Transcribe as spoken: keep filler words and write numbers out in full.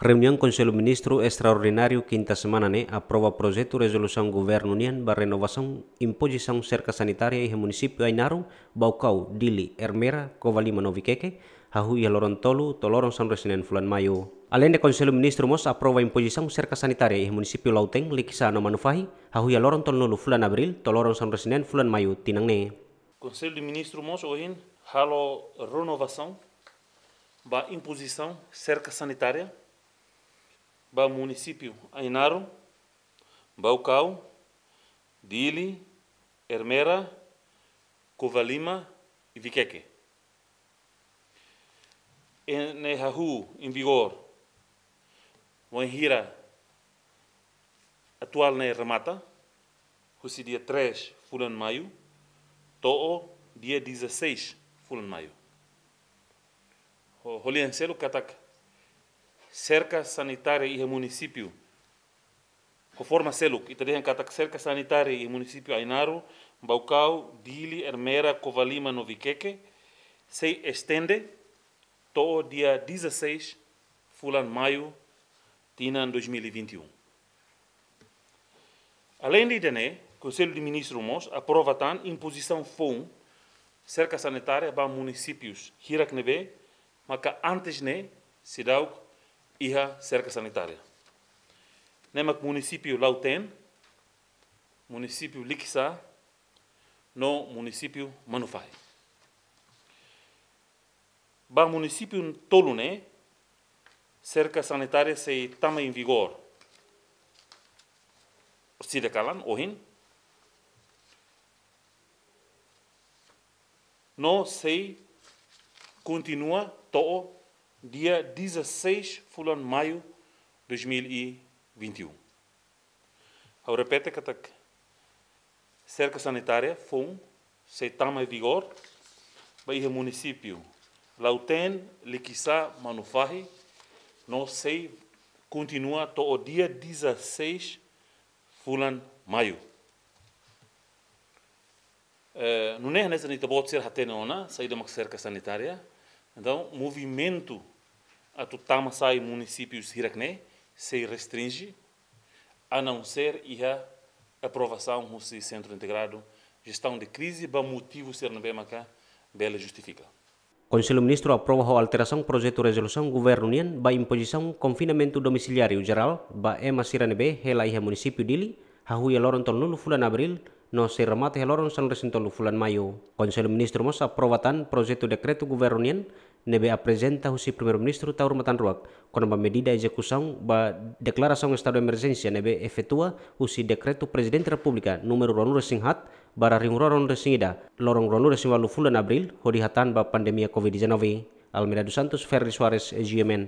Reuniaun Konsellu Ministru Estraordináriu kinta semana ne'e aprova projetu rezolusaun governu nian ba renovasaun impozisaun serka sanitária iha munisípiu Ainaro, Baucau, Dili, Ermera, Covalima no Viqueque, hahú iha loron tolu to'o loron sanulu-resin-neen fulan Maiu. Aleinde Konsellu Ministru mós aprova impozisaun serka sanitária iha munisípiu Lautém, Liquiçá no Manufahi, hahú iha loron tolunulu fulan Abríl to'o loron sanulu-resin-neen fulan Maiu tinan ne'e. Konsellu Ministru mós ohin halo renovasaun ba impozisaun serka sanitária ba munisípiu Ainaro, Baucau, Dili, Ermera, Covalima i Viqueque. Ne'e hahú em vigor wainhira atuál ne'e remata, husi dia três fulan Maiu to'o dia dezasseis fulan Maiu. Ho-, ho lian seluk katak serka sanitária iha munisípiu, ho forma seluk, ita dehan katak serka sanitária iha munisípiu Ainaro, Baucau, Dili, Ermera, Covalima no Viqueque, sei estende to'o dia dezasseis fulan Maiu tinan dois mil e vinte e um. Aleinde ida-ne'e, Konsellu de Ministru mós aprova tan impozisaun foun serka sanitária ba munisípius hirak ne'ebé maka antes ne'e seidauk iha serka sanitária. Ne'e mak munisípiu Lautém, munisípiu Liquiçá no munisípiu Manufahi. Ba munisípiu tolu ne'e, serka sanitária sei tama em vigor orsida kalan, ohin, no sei kontinua to'o dia dezasseis fulan Maiu dois mil e vinte e um. Ha'u repete katak serka sanitária foun sei tama em vigor ba iha munisípiu Lautém, Liquiçá, Manufahi, no sei kontinua to'o dia dezasseis fulan Maiu. Eh, nune'e hanesan ita-boot sira hatene ona saida mak serka sanitária. Entaun, movimentu atu tama sai munisípius hirak ne'e sei restrinje, a não ser iha aprovasaun husi Sentru Integradu Jestaun de Krize ba motivu sira ne'ebé maka bele justifika. Konsellu Ministru aprova ho alterasaun projetu rezolusaun governu nian ba impozisaun konfinamentu domisiliáriu jerál ba ema sira ne'ebé hela iha munisípiu Dili, hahú iha loron tolunulu fulan Abríl, no sei remata iha loron sanulu-resin-tolu fulan Maiu. Konsellu Ministru mós aprova tan projetu dekretu governu nian ne'ebé aprezenta husi Primeiru-Ministru Taur Matan Ruak, kona-ba medida ezekusaun ba deklarasaun estadu emerjénsia ne'ebé efetua husi dekretu Prezidente Repúblika númeru ruanulu-resin-haat barra rihun rua ruanulu-resin-ida, loron ruanulu-resin-ualu fulan Abríl, hodi hatan ba pandemia covid dezanove. Almeida dos Santos, Ferri Soares, G M N.